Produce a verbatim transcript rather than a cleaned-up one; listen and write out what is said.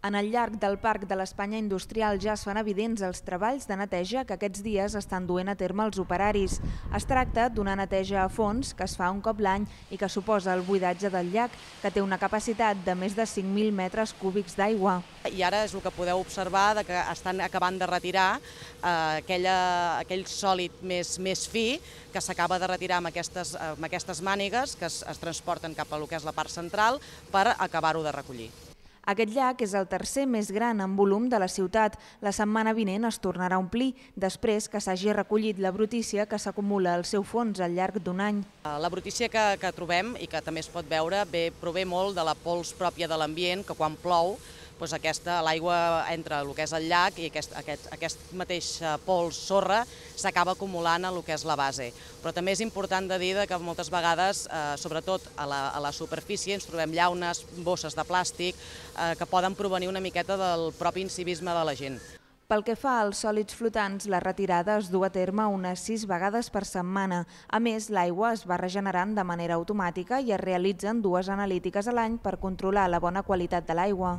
En el llarg del Parc de l'Espanya Industrial ja es fan evidents els treballs de neteja que aquests dies estan duent a terme els operaris. Es tracta d'una neteja a fons que es fa un cop l'any i que suposa el buidatge del llac, que té una capacitat de més de cinc mil metres cúbics d'aigua. I ara és el que podeu observar, que estan acabant de retirar aquella, aquell sòlid més, més fi que s'acaba de retirar amb aquestes, amb aquestes mànigues que es, es transporten cap a lo que és la part central per acabar-ho de recollir. Aquest llac és el tercer més gran en volum de la ciutat. La setmana vinent es tornarà a omplir, després que s'hagi recollit la brutícia que s'acumula al seu fons al llarg d'un any. La brutícia que, que trobem i que també es pot veure bé, prové molt de la pols pròpia de l'ambient, que quan plou doncs aquesta, l'aigua entra el que és el llac i aquest, aquest, aquest mateix pols sorra s'acaba acumulant a el que és la base. Però també és important de dir que moltes vegades, eh, sobretot a la, a la superfície, ens trobem llaunes, bosses de plàstic, eh, que poden provenir una miqueta del propi incivisme de la gent. Pel que fa als sòlids flotants, la retirada es du a terme unes sis vegades per setmana. A més, l'aigua es va regenerant de manera automàtica i es realitzen dues analítiques a l'any per controlar la bona qualitat de l'aigua.